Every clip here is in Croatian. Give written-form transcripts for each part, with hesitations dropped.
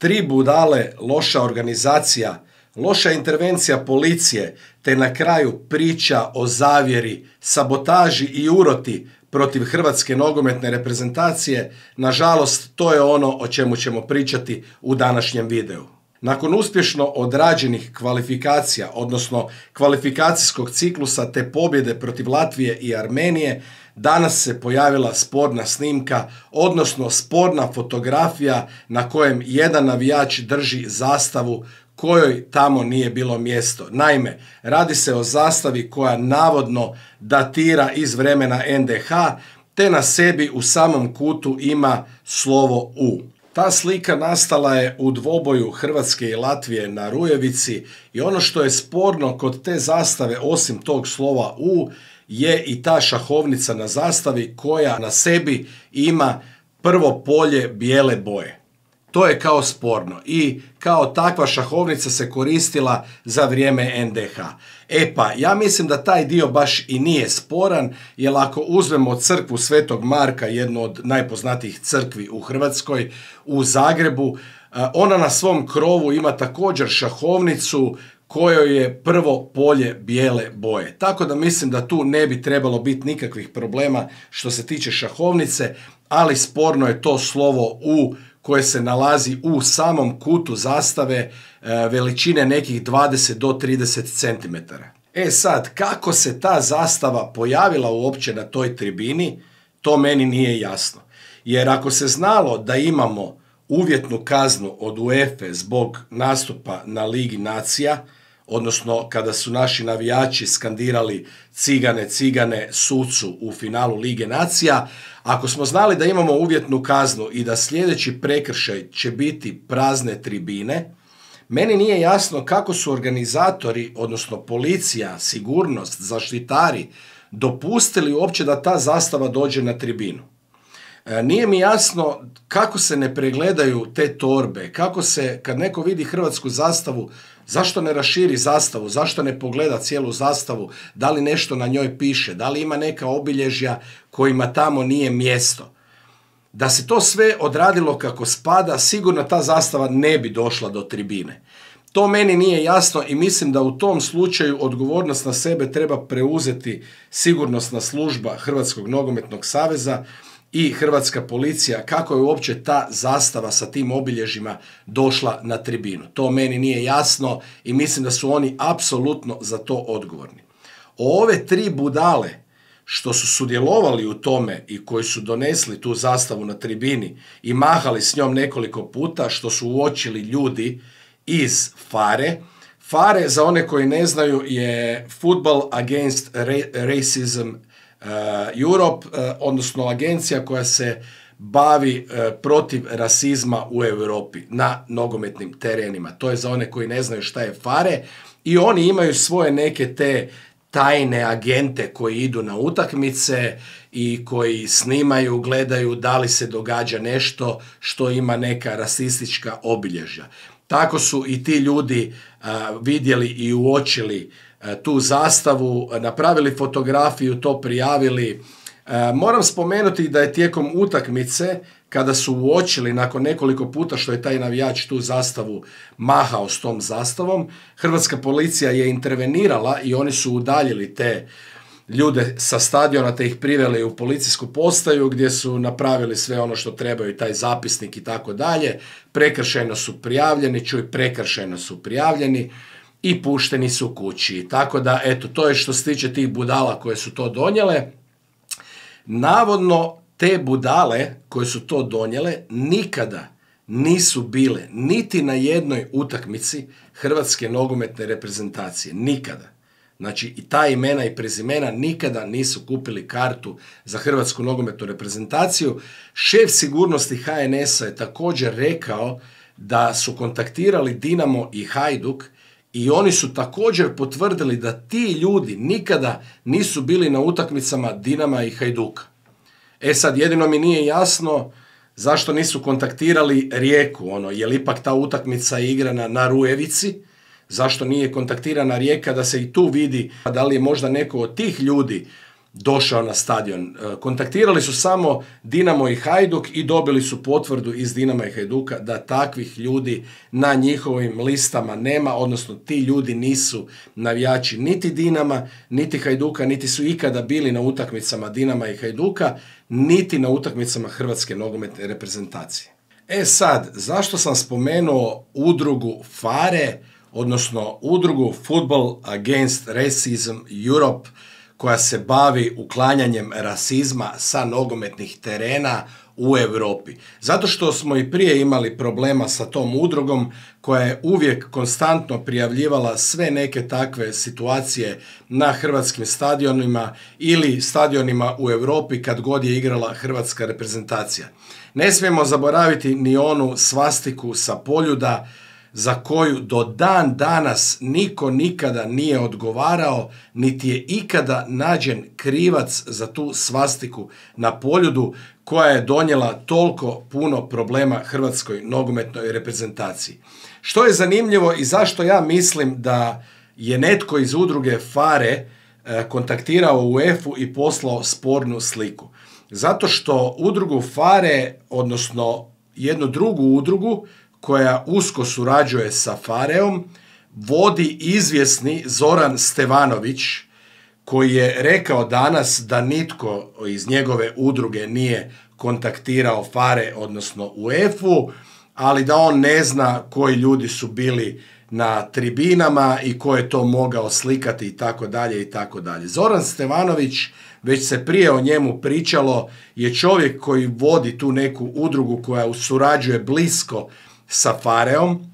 3 budale, loša organizacija, loša intervencija policije, te na kraju priča o zavjeri, sabotaži i uroti protiv hrvatske nogometne reprezentacije, nažalost, to je ono o čemu ćemo pričati u današnjem videu. Nakon uspješno odrađenih kvalifikacija, odnosno kvalifikacijskog ciklusa te pobjede protiv Latvije i Armenije, danas se pojavila sporna snimka, odnosno sporna fotografija na kojem jedan navijač drži zastavu kojoj tamo nije bilo mjesto. Naime, radi se o zastavi koja navodno datira iz vremena NDH, te na sebi u samom kutu ima slovo U. Ta slika nastala je u dvoboju Hrvatske i Latvije na Rujevici i ono što je sporno kod te zastave, osim tog slova U, je i ta šahovnica na zastavi koja na sebi ima prvo polje bijele boje. To je kao sporno i kao takva šahovnica se koristila za vrijeme NDH. E pa, ja mislim da taj dio baš i nije sporan, jer ako uzmemo crkvu Svetog Marka, jednu od najpoznatijih crkvi u Hrvatskoj, u Zagrebu, ona na svom krovu ima također šahovnicu kojoj je prvo polje bijele boje. Tako da mislim da tu ne bi trebalo biti nikakvih problema što se tiče šahovnice, ali sporno je to slovo U koje se nalazi u samom kutu zastave veličine nekih 20 do 30 cm. E sad, kako se ta zastava pojavila uopće na toj tribini, to meni nije jasno. Jer ako se znalo da imamo uvjetnu kaznu od UEFA zbog nastupa na Ligi nacija, odnosno kada su naši navijači skandirali cigane, cigane sucu u finalu Lige nacija, ako smo znali da imamo uvjetnu kaznu i da sljedeći prekršaj će biti prazne tribine, meni nije jasno kako su organizatori, odnosno policija, sigurnost, zaštitari, dopustili uopće da ta zastava dođe na tribinu. Nije mi jasno kako se ne pregledaju te torbe, kako se, kad neko vidi hrvatsku zastavu, zašto ne raširi zastavu, zašto ne pogleda cijelu zastavu, da li nešto na njoj piše, da li ima neka obilježja kojima tamo nije mjesto. Da se to sve odradilo kako spada, sigurno ta zastava ne bi došla do tribine. To meni nije jasno i mislim da u tom slučaju odgovornost na sebe treba preuzeti sigurnosna služba Hrvatskog nogometnog saveza i hrvatska policija, kako je uopće ta zastava sa tim obilježjima došla na tribinu. To meni nije jasno i mislim da su oni apsolutno za to odgovorni. O ove 3 budale što su sudjelovali u tome i koji su donesli tu zastavu na tribini i mahali s njom nekoliko puta, što su uočili ljudi iz FARE. FARE, za one koji ne znaju, je Football Against Racism Europe, odnosno agencija koja se bavi protiv rasizma u Europi na nogometnim terenima. To je za one koji ne znaju šta je FARE i oni imaju svoje neke te tajne agente koji idu na utakmice i koji snimaju, gledaju da li se događa nešto što ima neka rasistička obilježja. Tako su i ti ljudi vidjeli i uočili tu zastavu, napravili fotografiju, to prijavili. Moram spomenuti da je tijekom utakmice, kada su uočili nakon nekoliko puta što je taj navijač tu zastavu mahao s tom zastavom, hrvatska policija je intervenirala i oni su udaljili te ljude sa stadiona te ih priveli u policijsku postaju gdje su napravili sve ono što trebaju, taj zapisnik i tako dalje. Prekršajno su prijavljeni i pušteni su kući. Tako da, eto, to je što se tiče tih budala koje su to donijele. Navodno, te budale koje su to donijele nikada nisu bile niti na jednoj utakmici hrvatske nogometne reprezentacije. Nikada. Znači, i ta imena i prezimena nikada nisu kupili kartu za hrvatsku nogometnu reprezentaciju. Šef sigurnosti HNS-a je također rekao da su kontaktirali Dinamo i Hajduk i oni su također potvrdili da ti ljudi nikada nisu bili na utakmicama Dinama i Hajduka. E sad, jedino mi nije jasno zašto nisu kontaktirali Rijeku, je li ipak ta utakmica igrana na Rujevici, zašto nije kontaktirana Rijeka da se i tu vidi da li je možda neko od tih ljudi došao na stadion. Kontaktirali su samo Dinamo i Hajduk i dobili su potvrdu iz Dinama i Hajduka da takvih ljudi na njihovim listama nema, odnosno ti ljudi nisu navijači niti Dinama, niti Hajduka, niti su ikada bili na utakmicama Dinama i Hajduka, niti na utakmicama Hrvatske nogometne reprezentacije. Sad, zašto sam spomenuo udrugu FARE, odnosno udrugu Football Against Racism Europe, koja se bavi uklanjanjem rasizma sa nogometnih terena u Europi? Zato što smo i prije imali problema sa tom udrugom koja je uvijek konstantno prijavljivala sve neke takve situacije na hrvatskim stadionima ili stadionima u Europi kad god je igrala hrvatska reprezentacija. Ne smijemo zaboraviti ni onu svastiku sa Poljuda za koju do dan danas niko nikada nije odgovarao, niti je ikada nađen krivac za tu svastiku na Poljudu koja je donijela toliko puno problema hrvatskoj nogometnoj reprezentaciji. Što je zanimljivo i zašto ja mislim da je netko iz udruge FARE kontaktirao UEFA i poslao spornu sliku. Zato što udrugu FARE, odnosno jednu drugu udrugu koja usko surađuje sa FARE-om, vodi izvjesni Zoran Stevanović, koji je rekao danas da nitko iz njegove udruge nije kontaktirao FARE, odnosno UEFA, ali da on ne zna koji ljudi su bili na tribinama i ko je to mogao slikati i tako dalje i tako dalje. Zoran Stevanović, već se prije o njemu pričalo, je čovjek koji vodi tu neku udrugu koja surađuje blisko sa FARE-om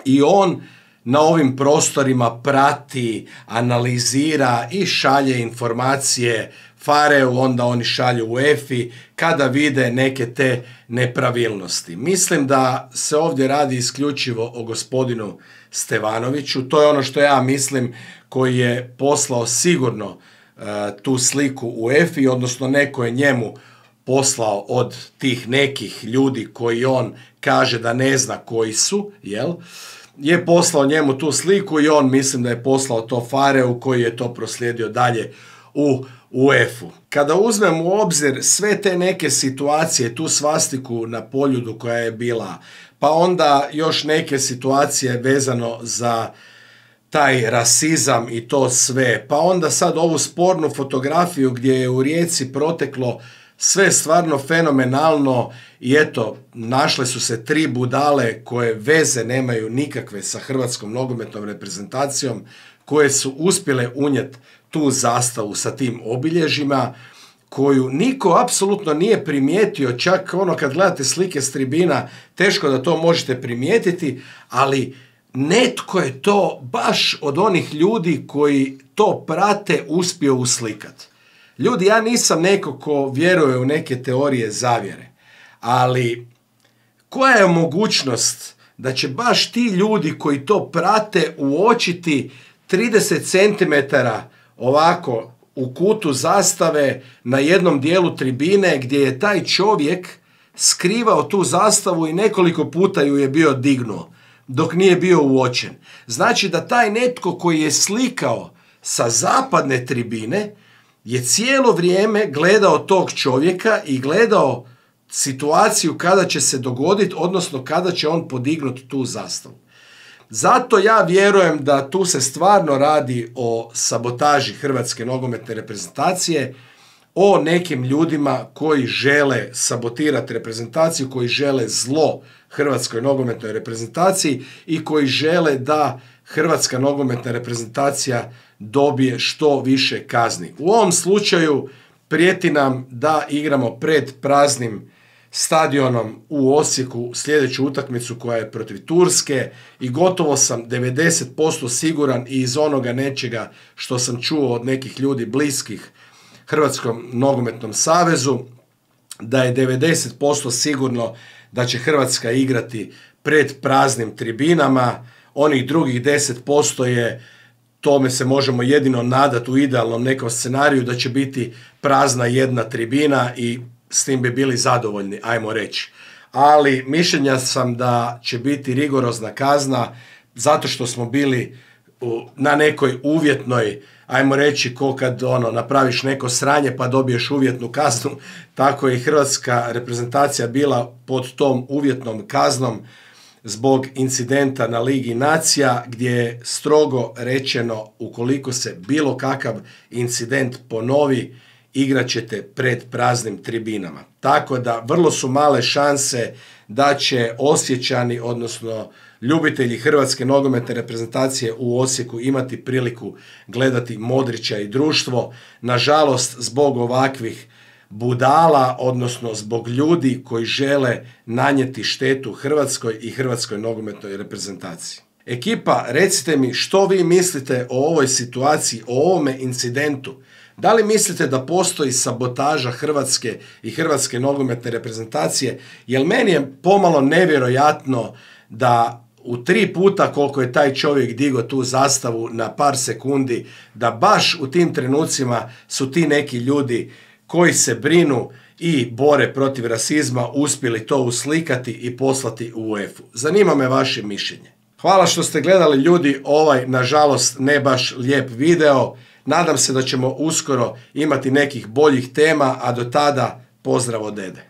i on na ovim prostorima prati, analizira i šalje informacije FARE-u, onda oni šalju UEFA-i kada vide neke te nepravilnosti. Mislim da se ovdje radi isključivo o gospodinu Stevanoviću, to je ono što ja mislim, koji je poslao sigurno tu sliku UEFA-i, odnosno neko je njemu poslao od tih nekih ljudi koji on kaže da ne zna koji su, je poslao njemu tu sliku i on mislim da je poslao to FARE-u koji je to proslijedio dalje u UEFA-u. Kada uzmemo u obzir sve te neke situacije, tu svastiku na Poljudu koja je bila, pa onda još neke situacije vezano za taj rasizam i to sve, pa onda sad ovu spornu fotografiju gdje je u Rijeci proteklo sve stvarno fenomenalno i eto, našle su se 3 budale koje veze nemaju nikakve sa hrvatskom nogometnom reprezentacijom, koje su uspjele unijeti tu zastavu sa tim obilježjima, koju niko apsolutno nije primijetio, čak ono kad gledate slike s tribina, teško da to možete primijetiti, ali netko je to baš od onih ljudi koji to prate uspio uslikati. Ljudi, ja nisam neko ko vjeruje u neke teorije zavjere, ali koja je mogućnost da će baš ti ljudi koji to prate uočiti 30 cm ovako u kutu zastave na jednom dijelu tribine gdje je taj čovjek skrivao tu zastavu i nekoliko puta ju je bio dignuo dok nije bio uočen. Znači da taj netko koji je slikao sa zapadne tribine je cijelo vrijeme gledao tog čovjeka i gledao situaciju kada će se dogoditi, odnosno kada će on podignuti tu zastavu. Zato ja vjerujem da tu se stvarno radi o sabotaži hrvatske nogometne reprezentacije, o nekim ljudima koji žele sabotirati reprezentaciju, koji žele zlo hrvatskoj nogometnoj reprezentaciji i koji žele da hrvatska nogometna reprezentacija dobije što više kazni. U ovom slučaju prijeti nam da igramo pred praznim stadionom u Osijeku sljedeću utakmicu koja je protiv Turske i gotovo sam 90% siguran i iz onoga nečega što sam čuo od nekih ljudi bliskih Hrvatskom nogometnom savezu, da je 90% sigurno da će Hrvatska igrati pred praznim tribinama. Onih drugih 10% je, tome se možemo jedino nadati u idealnom nekom scenariju, da će biti prazna jedna tribina i s tim bi bili zadovoljni, ajmo reći. Ali mišljenja sam da će biti rigorozna kazna zato što smo bili na nekoj uvjetnoj ajmo reći, ko kad napraviš neko sranje pa dobiješ uvjetnu kaznu, tako je i hrvatska reprezentacija bila pod tom uvjetnom kaznom zbog incidenta na Ligi nacija, gdje je strogo rečeno ukoliko se bilo kakav incident ponovi, igrat ćete pred praznim tribinama. Tako da vrlo su male šanse da će Osječani, odnosno ljubitelji hrvatske nogometne reprezentacije u Osijeku imati priliku gledati Modrića i društvo. Nažalost, zbog ovakvih budala, odnosno zbog ljudi koji žele nanijeti štetu Hrvatskoj i hrvatskoj nogometnoj reprezentaciji. Ekipa, recite mi što vi mislite o ovoj situaciji, o ovome incidentu. Da li mislite da postoji sabotaža Hrvatske i hrvatske nogometne reprezentacije? Jer meni je pomalo nevjerojatno da u 3 puta koliko je taj čovjek digao tu zastavu na par sekundi, da baš u tim trenucima su ti neki ljudi koji se brinu i bore protiv rasizma uspjeli to uslikati i poslati u UEFA-u. Zanima me vaše mišljenje. Hvala što ste gledali, ljudi, ovaj nažalost ne baš lijep video. Nadam se da ćemo uskoro imati nekih boljih tema, a do tada pozdrav od dede.